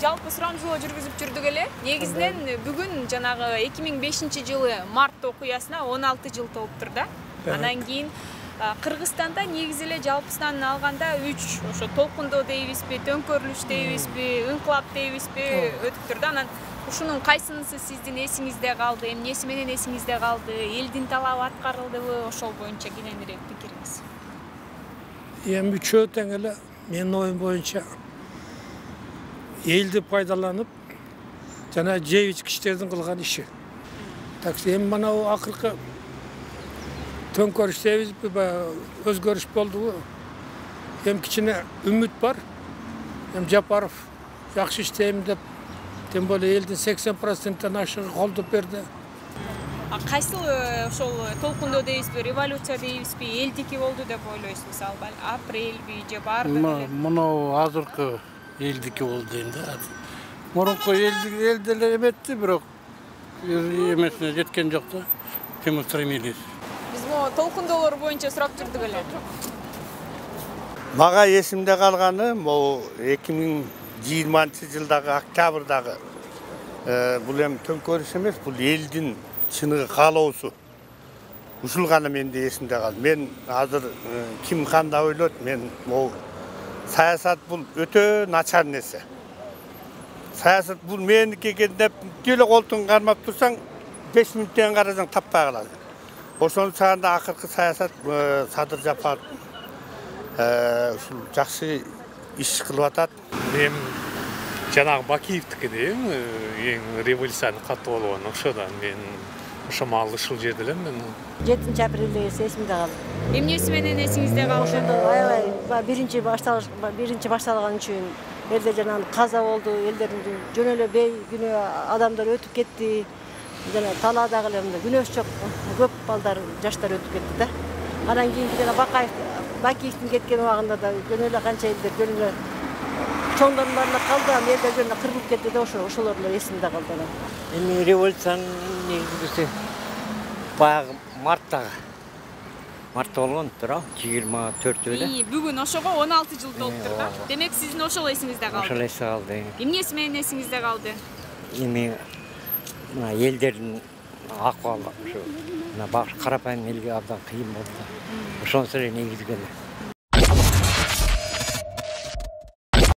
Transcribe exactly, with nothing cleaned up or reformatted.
жалпы сурамжылоо жүргүзүп жүрдүк эле. Негизинен бүгүн жанагы эки миң бешинчи жылы март окуясына он алты жыл толуптур да. Андан кийин Кыргызстанда негизи эле жалпысынан алганда үч ошо толкундоо дейбизби, төңкөрүлүш дейбизби, ыңкылап дейбизби өтүптүр да. Анан ушунун кайсынысы сиздин эсиңизде калды, эмнеси менен эсиңизде калды, элдин талабы аткарылдыбы, ошол боюнча кененирээк пикириңиз. Эми үчөө тең эле менин оюм боюнча элди пайдаланып жана жеп ичкичтердин кылган иши. Так эми мына акыркы төңкөрүш дейбизби, өзгөрүш болдубу? Эми кичине үмүт бар. Эми Жапаров жакшы иштейм деп, тем более элдин сексен проценттен ашыгы колдоп берди. А кайсыл ошол толкундоо дейбизби, революция дейбизби, элдики болду деп ойлойсуз? Мисалы, апрельби же баардыгы? Мына азыркы элдики болду дейм да. Мурунку эл деле эметти, бирок эмесине жеткен жок да. Ким устремились. Биз могу толкундоолор боюнча сурап жүрдүк эле. Мага эсимде калганы могу эки миң жыйырманчы жылдагы октябрдагы бул эми төңкөрүш эмес, бул элдин чыныгы каалоосу. Ушул гана менде эсимде калды. Мен азыр ким кандай ойлойт, мен могу саясат бул өтө начар нерсе. Саясат бул меники экен деп деле колтуң кармап турсаң, беш мүнөттөн карасаң таппай каласың. Ошону чагында акыркы саясат Садыр Жапаров ушул жакшы иш кылып атат. Мен жанагы Бакиевдики дейм, эң революциянын катуу болгон. Ошодан мен ошо маал ушул жерде элем мен. жетинчи апрелде эсимде калды. Эмнеси менен эсиңизде калды? Ошондо аябай биринчи башталыш биринчи башталган үчүн элде жанагы каза болду, элдердин жөн эле бейгүнөө адамдар өтүп кетти. Жана талаадагы эле күнөөсү жок көп балдар, жаштар өтүп кетти да. Андан кийин жана Бакаев, Бакиевдин кеткен убагында да жөн эле канча элдер жөн эле чоңдордун баарына калды, аны элдер жөн эле кырылып кетти да, ошо ошолор эле эсимде калды. Эми революциянын негизгиси баягы марттагы. Мартта болгон туурабы? жыйырма төртү эле. Бүгүн ошого он алты жыл толуптур да. Демек сиздин ошол эсиңизде калды. Ошол эсте калды. Эмнеси менен эсиңизде калды? Эми мына элдердин акыбалы ушу мына карапайым элге абдан кыйын болду. Ошонусу эле негизги эле.